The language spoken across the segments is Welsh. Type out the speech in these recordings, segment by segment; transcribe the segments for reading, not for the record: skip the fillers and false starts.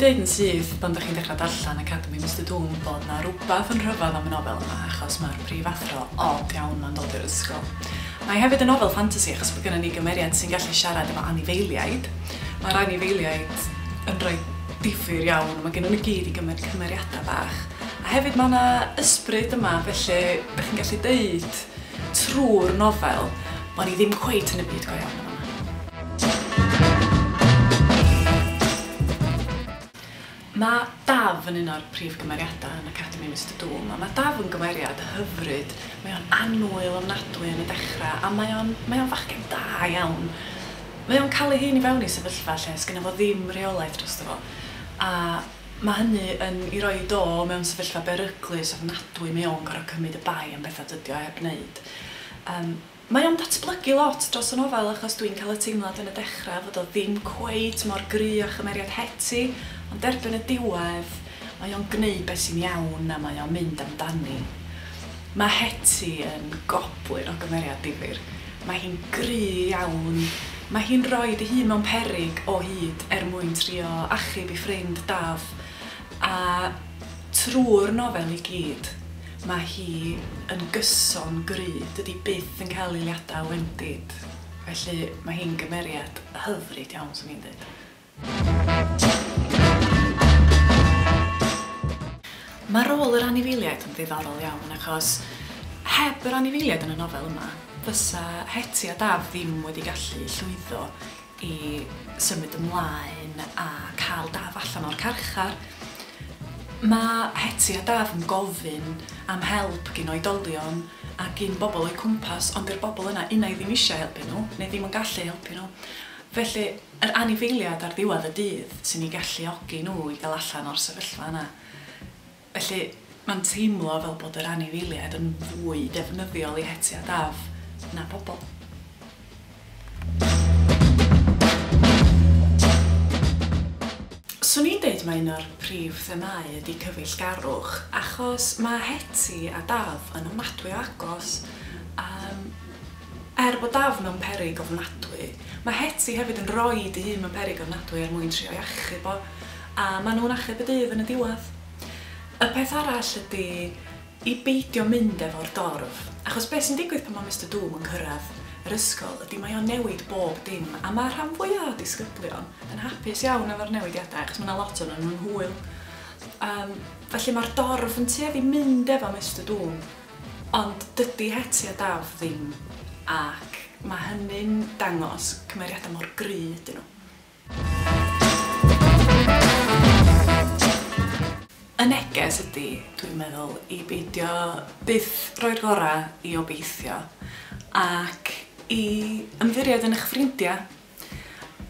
Swn i'n deud yn syth pan dach chi'n dechrau darllen Academi Mister Doom bod 'na rwbath yn rhyfedd am y nofel yma achos mae'r prifathro od iawn 'ma'n dod i'r ysgol. Mae hefyd yn nofel ffantasi achos bod gynnon ni gymeriad sy'n gallu siarad efo anifeiliaid. Mae'r anifeiliaid yn rhai difyr iawn, mae gennyn nhw i gyd i gymryd cymeriadau bach. A hefyd mae 'na ysbryd yma, felly dach chi'n gallu deud trwy'r nofel bod ni ddim cweit yn y byd go iawn yn fama. Mae Daf yn un o'r prif gymeriadau yn Academi Mister Doom, a mae Daf yn gymeriad hyfryd. Mae o'n annwyl ofnadwy yn y dechrau, a mae o'n mae o'n fachgen da iawn. Mae o'n cael ei hun i fewn i sefyllfa lle sgynno fo ddim rheolaeth drosto fo, a mae hynny yn ei roid o mewn sefyllfa beryglus ofnadwy. Mae o'n gorfod cymryd y bai am bethau dydy o heb wneud. Yym. Mae o'n datblygu lot dros y nofel achos dwi'n cael y teimlad yn y dechrau fod o ddim cweit mor gry â chymeriad Hetty, ond erbyn y diwedd mae o'n gneud be sy'n iawn a mae o'n mynd amdani. Mae Hetty yn goblyn o gymeriad difyr. Mae hi'n gry iawn, mae hi'n rhoid ei hun mewn peryg o hyd er mwyn trio achub ei ffrind Daf, a trwy'r nofel i gyd. Mae hi yn gyson gry, dydi byth yn cael eiliadau o wendid, felly mae hi'n gymeriad hyfryd iawn 'swn i'n deud. Mae rôl yr anifeiliaid yn ddiddorol iawn achos heb yr anifeiliaid yn y nofel yma fysa Hetty a Daf ddim wedi gallu llwyddo i symud ymlaen a cael Daf allan o'r carchar. Mae Hetty a Daf yn gofyn am help gin oedolion a gin bobl o'u cwmpas, ond 'di'r bobl yna unai ddim eisiau helpu nhw neu ddim yn gallu helpu nhw. Felly, yr anifeiliaid ar ddiwedd y dydd sy'n eu galluogi nhw i gael allan o'r sefyllfa yna. Felly, mae'n teimlo fel bod yr anifeiliaid yn fwy defnyddiol i Hetty a Daf na pobl. Swn i'n deud mai un o'r prif themâu ydi cyfeillgarwch, achos mae Hetty a Daf yn ofnadwy o agos. Yym, er bod Daf mewn peryg ofnadwy, mae Hetty hefyd yn rhoid ei hun mewn peryg ofnadwy er mwyn trio ei achub o, a maen nhw'n achub y dydd yn y diwedd. Y peth arall ydi i beidio mynd efo'r dorf, achos be sy'n digwydd pan mae Mister Doom yn cyrraedd yr ysgol ydy mae o'n newid bob dim, a mae'r rhan fwya o disgyblion yn hapus iawn efo'r newidiadau achos mae 'na lot ohonyn nhw'n hwyl. Yym, felly mae'r dorf yn tueddu mynd efo Mister Doom, ond dydy Hetty a Daf ddim, ac mae hynny'n dangos cymeriadau mor gry ydyn nhw. Y neges ydy, dwi'n meddwl, i beidio byth roi'r gorau i obeithio ac i ymddiried yn eich ffrindiau.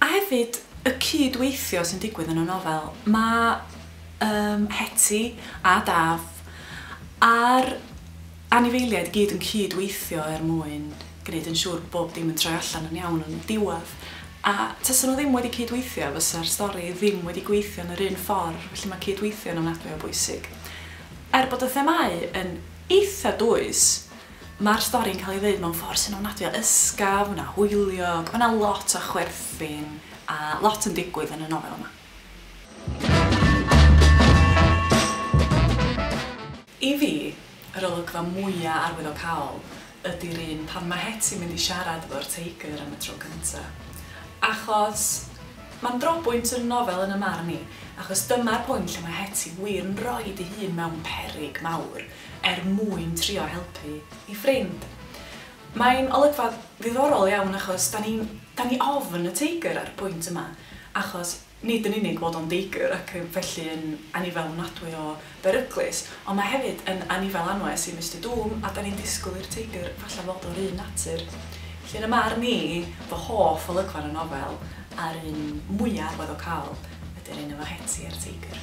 A hefyd, y cyd-weithio sy'n digwydd yn y nofel. Mae yym Hetty a Daf a'r anifeiliaid i gyd yn cyd-weithio er mwyn gwneud yn siŵr bod bob dim yn troi allan yn iawn yn y diwedd. A tasen nhw ddim wedi cyd-weithio fysa'r stori ddim wedi gweithio yn yr un ffordd, felly mae cyd-weithio yn ofnadwy o bwysig. Er bod y themâu yn eitha dwys, mae'r stori'n cael ei ddeud mewn ffordd sy'n ofnadwy o ysgafn a hwyliog, mae 'na lot o chwerthin a lot yn digwydd yn y nofel yma. I fi, yr olygfa mwya arwyddocaol ydi'r un pan ma' Hetty'n mynd i siarad efo'r teigr am y tro cynta. Achos ma'n drobwynt yn y nofel yn 'y marn i, achos dyma'r pwynt lle ma' Hetty wir yn roid ei hun mewn peryg mawr er mwyn trio helpu ei ffrind. Mae'n olygfa ddiddorol iawn achos 'dan ni'n 'dan ni ofn y teigr ar y pwynt yma, achos nid yn unig bod o'n deigr ac felly yn anifail ofnadwy o beryglus, ond mae hefyd yn anifail anwes i Mister Doom a 'dan ni'n disgwyl i'r teigr falle fod o'r un natur. Felly yn 'y marn i, fy hoff olygfa yn y nofel, a'r un mwya arwyddocaol, ydy'r un efo Hetty a'r teigr.